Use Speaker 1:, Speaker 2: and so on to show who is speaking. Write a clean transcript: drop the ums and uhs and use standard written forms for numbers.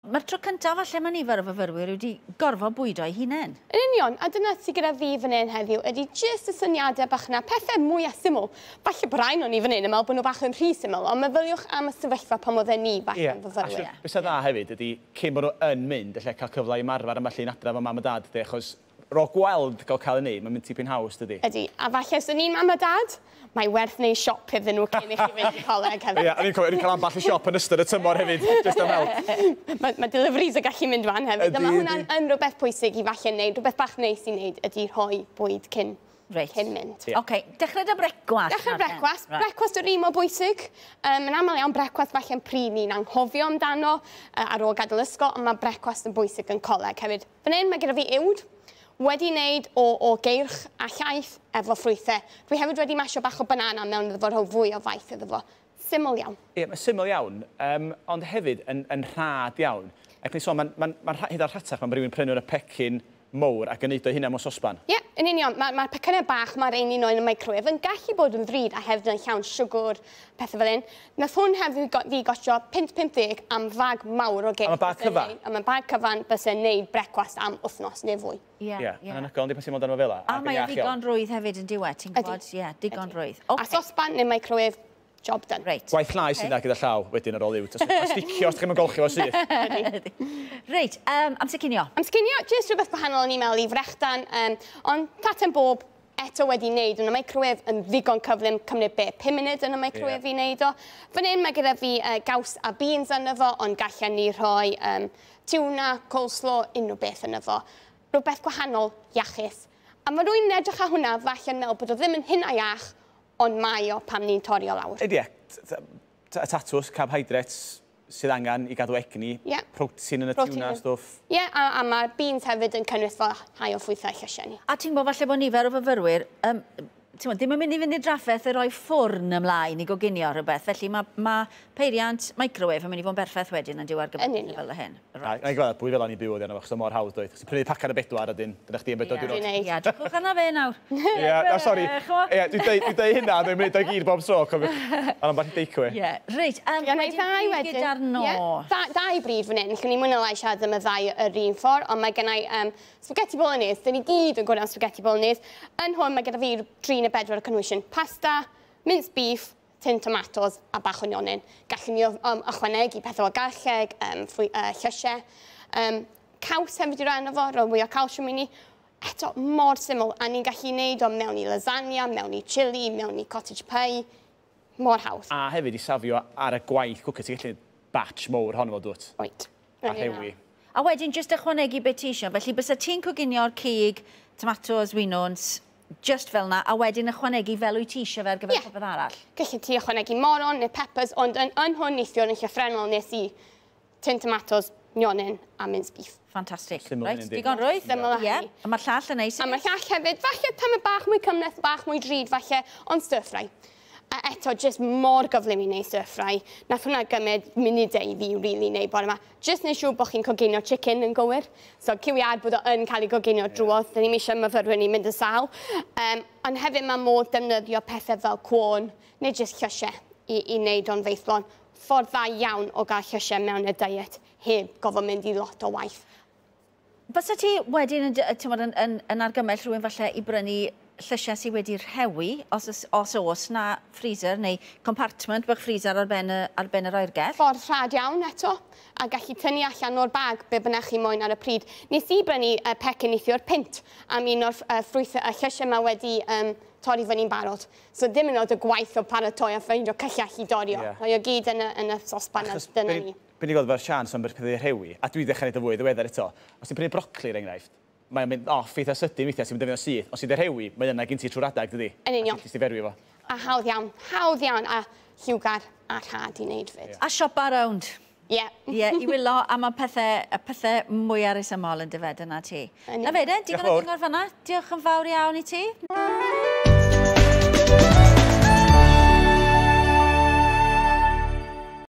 Speaker 1: Mae'r tro cyntaf falle mae nifer o fyfyrwyr wedi gorfod bwydo eu hunain.
Speaker 2: Yn union, a dyna sydd gyda fi fan hyn heddiw, ydy jyst y syniadau bach yna, pethau mwy a syml. Falle bod rhai o'n ni fan hyn yn meddwl bod nhw bach yn rhy syml, ond meddyliwch am y sefyllfa pan oedden ni falle yn fyfyrwyr.
Speaker 3: Beth sy'n dda hefyd ydy, cyn bod nhw yn mynd, lle cael cyfle i ymarfer ambell un adra efo mam a dad, de, achos ro gweld cael ei wneud, mae'n mynd tipyn haws, dydy.
Speaker 2: Ydy, a falle os ni'n mam a dad, mae werth wneud siop iddyn nhw cyn i chi fynd i coleg hefyd.
Speaker 3: Ie, o'n i'n cofio, o'n i'n cael ambell i siop yn ystod y tymor hefyd, jyst am help.
Speaker 2: Mae deliveries yn gallu mynd fan hefyd. A mae hwnna'n yn rhywbeth pwysig i falle wneud, rhywbeth bach neis i wneud ydy rhoi bwyd cyn mynd.
Speaker 1: Yeah. OK, dechrau dy brecwast.
Speaker 2: Dechrau brecwast. Right. Brecwast yr un mor bwysig. Yn aml iawn, brecwast falle'n pryd ni'n anghofio amdano ar ôl gadael ysgol, ond mae brecwast yn bwysig yn coleg hefyd. Fan hyn mae gyda fi uwd, wedi wneud o geirch a llaeth efo ffrwythau. Dwi hefyd wedi masio bach o banana mewn iddo fo, rhoi fwy o faith iddo fo. Syml iawn.
Speaker 3: Ie, mae syml iawn, ond hefyd yn rhad iawn. Ac ni'n sôn, mae'n hyd ar rhatach, mae'n rhywun prynu yn y pecyn mowr ac yn neud o hynna mewn sosban.
Speaker 2: Ie, yn union. Mae'r pecynnau bach, mae'r ein un o'n y microwave yn gallu bod yn ddrud a hefyd yn llawn siwgr, pethau fel un. Nath hwn hefyd fi gostio £5.50 am fag mawr o geirch.
Speaker 3: Am y bag cyfan?
Speaker 2: Am y bag cyfan byse'n neud brecwast am wythnos neu fwy.
Speaker 1: Ie,
Speaker 3: ie. Anhygoel, ond di pan ti'n mynd arno fel 'a.
Speaker 1: A mae o ddigon rwydd hefyd yn diwedd, ti'n gwybod? Ie, digon rwydd.
Speaker 2: A sosban neu microwave, job done.
Speaker 1: Reit.
Speaker 3: Gwaith llai sy'n dda gyda llaw wedyn ar ôl uwd. A sticio os chi'n golchi fo syth.
Speaker 1: Reit, amser cinio.
Speaker 2: Amser cinio, jyst rhywbeth gwahanol o'n i'n meddwl i frechdan, ond taten bob eto wedi wneud yn y microwave yn ddigon cyflym, cymryd be, 5 munud yn y microwave i wneud o. Fan hyn mae gyda fi gaws a beans ynddo fo, ond gallen ni rhoi tuna, coleslaw, unrhyw beth ynddo fo. Rhywbeth gwahanol, iachus. A mae rhywun yn edrych ar hwnna, falle'n meddwl bod o ddim yn hynna iach, ond mae o pam ni'n torri o lawr.
Speaker 3: Ydy, tatws, carbohydrates sydd angen i gadw egni, protein yn y tuna, stwff.
Speaker 2: Ie, a mae'r beans hefyd yn cynnwys fel rhai o ffrwythau llysiau ni.
Speaker 1: A ti'n gwybod falle bod nifer o fyfyrwyr, ddim yn mynd i fynd i'r drafferth i roi ffwrn ymlaen i goginio rhywbeth, felly mae peiriant microwave yn mynd i fod yn berffaith wedyn yn diwedd gyfer fel hyn.
Speaker 3: Na i gweld bwy fel o'n i byw oedd yna, achos mor hawdd doedd. Chos prynu pacan y bedwar ydyn, dyna chdi yn bedwar diwrnod.
Speaker 1: Ie, drychwch arna fe nawr.
Speaker 3: Ie, na sori. Ie, dwi'n deud hynna, dwi'n mynd o'i gyd bob tro, cofiwch. Ond ambell i takeaway.
Speaker 1: Ie, reit, wedyn pryd gyda'r nos.
Speaker 2: Ddau bryd fan hyn, lle ni mwy na lai siarad am y ddau yr un ffordd, ond mae gennau spaghetti bolognese, dyn ni gyd yn gwybod am spaghetti bolognese. Yn hwn mae gyda fi 3 neu 4 cynhwysion. Pasta, minced beef, tin tomatoes a bach o nionyn. Gallwn ni ychwanegu pethau o garlleg, llysiau. Caws hefyd i ran o fo, rhoi mwy o calsiwm i ni. Eto, mor syml, a ni'n gallu neud o mewn i lasagna, mewn i chili, mewn i cottage pie. Mor hawdd.
Speaker 3: A hefyd i safio ar y gwaith cwcio, ti'n gallu batch mowr honno fo, dwt?
Speaker 2: Oed.
Speaker 3: A rhewi.
Speaker 1: A wedyn, jyst ychwanegu beth ti eisiau. Felly, bysa ti'n coginio'r cig, tomatoes, winwns, just fel na, a wedyn ychwanegu fel wyt ti eisiau fe ar gyfer popeth arall.
Speaker 2: Gallu ti ychwanegu moron neu peppers, ond yn hwn neithiwr yn llythrennol nes i tin tomatoes, nionyn a minced beef.
Speaker 1: Ffantastig.
Speaker 3: Syml
Speaker 1: Reit,
Speaker 3: yn yndi.
Speaker 1: Digon rwydd.
Speaker 2: Syml a hynny.
Speaker 1: A mae'r llall yn neis.
Speaker 2: A mae'r llall hefyd, falle tamed bach mwy cymhleth, bach mwy drud falle, ond stir fry. A eto, jyst mor gyflym i wneud stir fry. Nath hwnna gymryd munudau i fi really wneud bore yma. Jyst wneud siŵr bod chi'n coginio chicken yn gywir. So, cywiad bod o yn cael ei goginio drwodd. Dyn ni'm eisiau myfyrwyr ni'n mynd yn sâl. Ond hefyd mae modd defnyddio pethau fel cwôn neu jyst llysiau i wneud o'n feithlon. Ffordd dda iawn o gael llysiau mewn y diet heb gofod mynd i lot o waith.
Speaker 1: Fysa ti wedyn yn argymell rhywun falle i brynu llysiau sydd wedi rhewi, os oes na freezer neu compartment bach freezer ar ben yr oergell?
Speaker 2: Ffordd rhad iawn eto, a gallu tynnu allan o'r bag be bynnag chi moyn ar y pryd. Nes i brynu pecyn neithiwr £1 am un o'r ffrwythau y llysiau yma wedi torri fyny'n barod. So ddim yn oed y gwaith o paratoi a ffeindio cyllell i dorri o. Rhoi o gyd yn y sosban a dyna ni.
Speaker 3: Be ni'n gweld efo'r sians am pethau rhewi, a dwi ddechrau gwneud o fwy ddiweddar eto, os ti'n prynu brocoli er enghraifft, mae'n mynd off eitha sydyn weithiau, ti'n mynd defnyddio syth. Os ti'n rhewi, mae yna gen ti trwy'r adag, dydi?
Speaker 2: Yn union.
Speaker 3: A ti'n ferwi fo.
Speaker 2: A hawdd iawn, hawdd iawn, a lliwgar a rhad i wneud fyd.
Speaker 1: A siopa rownd.
Speaker 2: Ie.
Speaker 1: Ie, i wylo am y pethau mwy resymol yn dyfed yna ti.
Speaker 2: Yn
Speaker 1: Na fe, de, digon o
Speaker 3: Diolch yn fawr.
Speaker 1: gyngor fan'na. Diolch yn fawr iawn i ti.